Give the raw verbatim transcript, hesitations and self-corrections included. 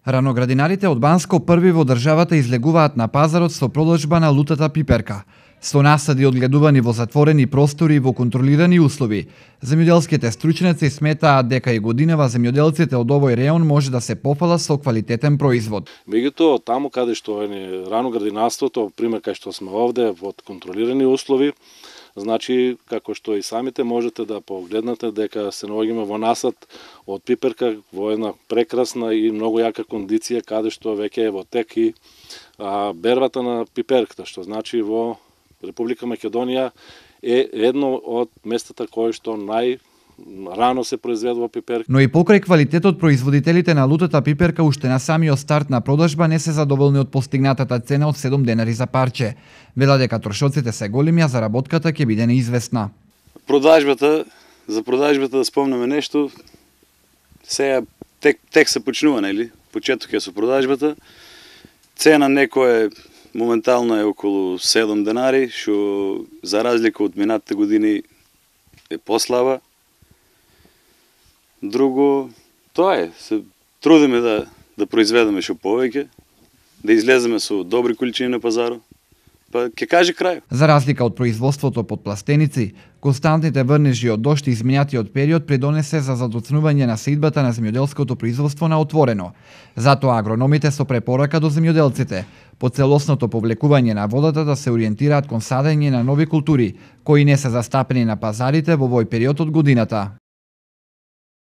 Раноградинарите од Банско први во државата излегуваат на пазарот со продажба на лутата пиперка. Со насади одгледувани во затворени простори и во контролирани услови, земјоделските стручњаци сметаат дека и годинава земјоделците од овој реон може да се пофала со квалитетен производ. Меѓутоа, таму каде што е раноградинарството, пример кај што сме овде во контролирани услови, значи, како што и самите можете да погледнете дека се наоѓаме во насад од пиперка во една прекрасна и многу јака кондиција, каде што веќе е во тек и а, бербата на пиперката, што значи во Република Македонија е едно од местата кои што нај рано се произведува пиперка. Но и покрај квалитетот, производителите на лутата пиперка уште на самиот старт на продажба не се задоволни од постигнатата цена од седум денари за парче. Велат дека трошоците се големи, а заработката ќе биде неизвестна. Продажбата, за продажбата да спомнеме нешто, сега тек, тек се почнува, нели? Почеток е со продажбата. Цена некој моментално е околу седум денари, што за разлика од минатите години е послаба. Друго, тоа е, се трудиме да, да произведеме што повеќе, да излеземе со добри количини на пазарот, па ќе каже крај. За разлика од производството под пластеници, константните врнежи од дожд и изминатиот период придонесе за задоцнување на сеидбата на земјоделското производство на отворено. Затоа агрономите со препорака до земјоделците по целосното повлекување на водата да се ориентираат кон садење на нови култури, кои не се застапени на пазарите во овој период од годината.